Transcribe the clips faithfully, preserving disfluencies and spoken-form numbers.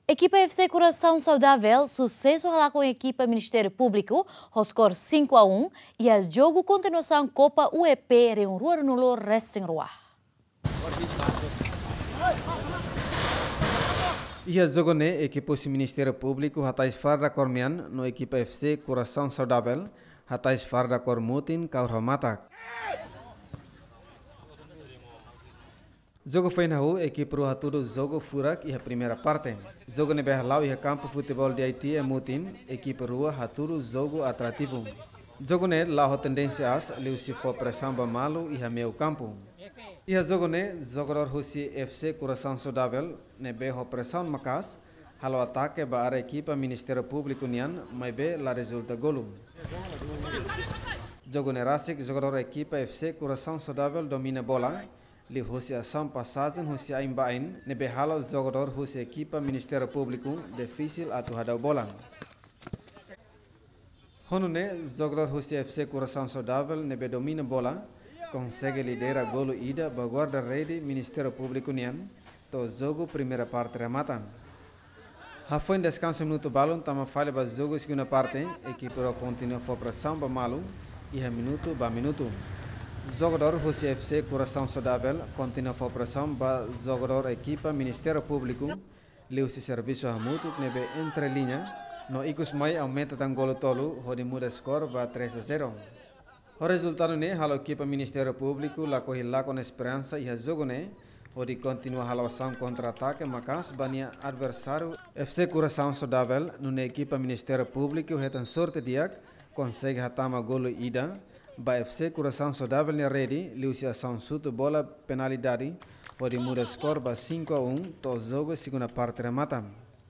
Ekipa F C Coração Saudável susesu halakon ekipa Ministériu Públiku ho skor cinco a um iha jogu kontinuasaun Kopa U E P rihun rua ruanulu resin rua. Iha jogu ne'e ekipa husi Ministériu Públiku hatais farda kór mean no ekipa F C Coração Saudável hatais farda kór mutin kahur ho matak. Jogu foin hahú, ekipa rua hatudu jogu furak iha primeira parte. Jogu ne'ebé hala'o iha kampu futeból D I T iha mutin, ekipa rua hatudu jogu atrativu. Jogu ne'e la'o ho tendénsia aas, liuhusi fó presaun ba malu iha meiu kampu. Iha jogu ne'e, jogadór husi F C Coração Saudável ne'ebé ho presaun maka'as halo atake ba área ekipa Ministériu Públiku nian, maibé la rezulta golu. Jogu ne'e rasik, jogadór ekipa F C Coração Saudável domina bola, liuhusi asaun pasajen husi ain ba ain ne'ebé halo jogadór husi ekipa Ministériu Públiku difisil atu hadau bola. Ho nune'e, jogadór husi F C Coração Saudável ne'ebé domina bola konsege lidera golu ida ba guarda-rede Ministériu Públiku nian, to'o jogu primeira parte remata. Hafoin deskansa minutu balun tama fali ba jogu segunda parte, ekipa rua kontinua fó presaun ba malu iha minutu ba minutu. Jogadór husi F C Coração Saudável kontinua fó presaun ba jogadór ekipa Ministériu Públiku, liuhusi servisu hamutuk ne'ebé entre liña, no ikus mai aumenta tan golu tolu hodi muda skor ba três a zero. Ho rezultadu ne'e halo ekipa Ministériu Públiku lakohi lakon esperansa iha jogu ne'e, hodi kontinua halo asaun kontra-atake maka'as ba nia adversáriu F C Coração Saudável, nune'e ekipa Ministériu Públiku hetan sorte di'ak, konsege hatama golu ida ba F C Coração Saudável nia rede, liuhusi asaun xutu bola penalidade, hodi muda skor ba cinco a um, to'o jogu segunda parte remata.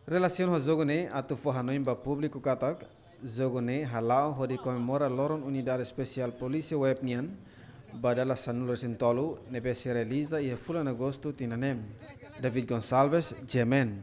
Relasiona ho jogu ne'e, atu fó hanoin ba públiku katak, jogu ne'e hala'o hodi komemora loron Unidade Espesiál Polísia Web nian, ba dala sanulu resin tolu, ne'ebé sei realiza iha fulan Agostu tinan ne'e. David Gonçalves, G M N.